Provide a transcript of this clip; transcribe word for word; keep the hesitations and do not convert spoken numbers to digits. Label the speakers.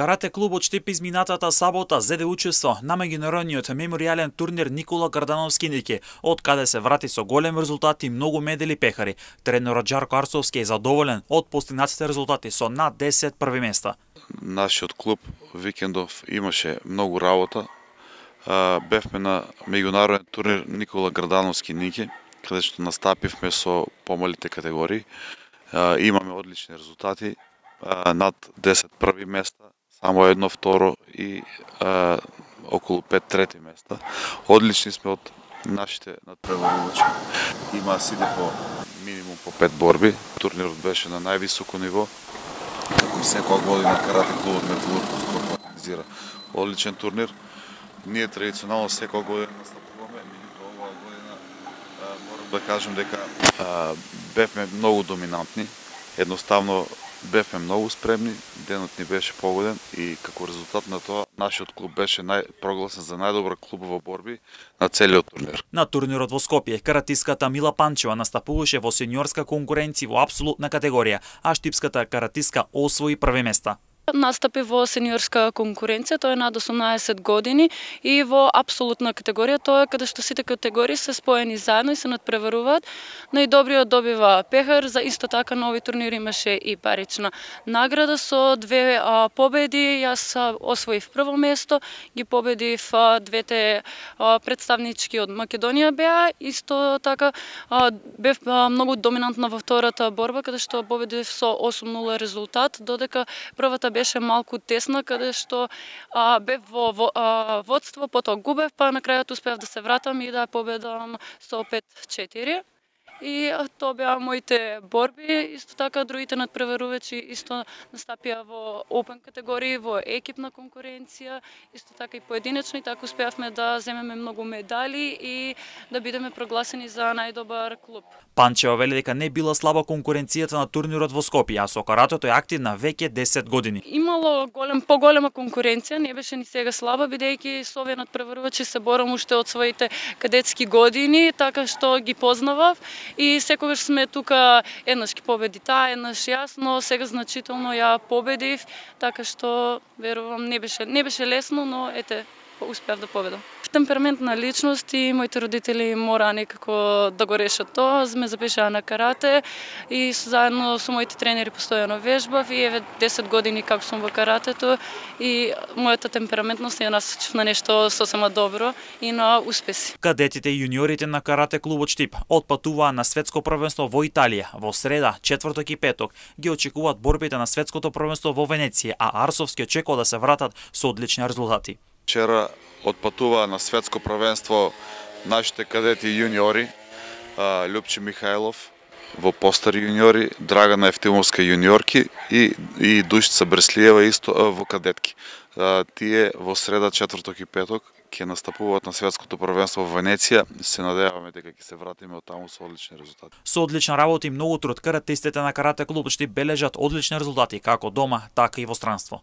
Speaker 1: Карате клубот Штип изминатата сабота зеде учество на меѓународниот меморијален турнир Никола Грдановски Ники, од каде се врати со голем резултат и многу медали пехари. Тренерот Жарко Арсовски е задоволен од постигнатите резултати со над десет први места.
Speaker 2: Нашиот клуб викендов имаше многу работа. Бевме на меѓународен турнир Никола Грдановски Ники, каде што настапивме со помалите категории. Имаме одлични резултати, над десет први места, само едно второ и а, околу пет трети места. Одлични сме од нашите надпреварувачи. Има сиде по минимум по пет борби. Турнирот беше на највисоко ниво. Како и секоја година карате клубот Металург организира одличен турнир. Ние традиционално секоја година настапуваме, меѓутоа оваа година морам да кажам дека а, бевме многу доминантни. Едноставно бевме многу спремни, денот ни беше погоден и како резултат на тоа нашиот клуб беше нај, прогласен за најдобра клубова борби на целиот турнир.
Speaker 1: На турнирот во Скопје каратистката Мила Панчева настапуваше во сениорска конкуренција во апсолутна категорија, а штипската каратистка освои први места.
Speaker 3: Настапи во сениорска конкуренција, тоа е над осумнаесет години, и во апсолутна категорија, тоа е каде што сите категории се споени заедно и се надпреваруваат. Најдобриот добива пехар, за исто така на овој турнир имаше и парична награда со две а, победи. Јас а, освоив прво место, ги победив а, двете а, представнички од Македонија беа, исто така а, бев а, многу доминантна во втората борба, каде што победив со осум нула резултат, додека првата беше малку тесна, каде што а, бев во, во а, водство, потоа губев, па на крајот успеав да се вратам и да победам со пет четири. И тоа беа моите борби. Исто така другите надпреварувачи исто настапија во опен категории, во екипна конкуренција, исто така и поединечни, така успеавме да земеме многу медали и да бидеме прогласени за најдобар клуб.
Speaker 1: Панчева вели дека не била слаба конкуренцијата на турнирот во Скопје, а со каратето е активна веќе десет години.
Speaker 3: Имало голем поголема конкуренција, не беше ни сега слаба, бидејќи со овие надпреварувачи се борам уште од своите кадетски години, така што ги познавав. И секогаш сме тука, еднаш ги победи таа, еднаш јас, но сега значително ја победив, така што верувам не беше не беше лесно, но ете успеав да победам. Темпераментна личност и моите родители мора некако да го решат тоа. Ме запишаа на карате и заедно со моите тренери постојано вежбав и еве десет години како сум во каратето и мојата темпераментност ја насочив на нешто сосема добро и на успеси.
Speaker 1: Кадетите и јуниорите на карате клубот Штип отпатуваа на светско првенство во Италија. Во среда, четврток и петок ги очекуваат борбите на светското првенство во Венеција, а Арсовски очекува да се вратат со одлични резултати.
Speaker 2: Вчера отпатуваа на светско првенство нашите кадети и јуниори, Љупче Михајлов во постари јуниори, Драгана Евтимовска јуниорки и, и Душица Бреслиева исто во кадетки. Тие во среда, четврток и петок ќе настапуваат на светското првенство во Венеција. Се надеваме дека ќе се вратиме од таму со одлични резултати.
Speaker 1: Со одлична работа и многу труд, каратистите на карате клубот Штип бележат одлични резултати како дома, така и во странство.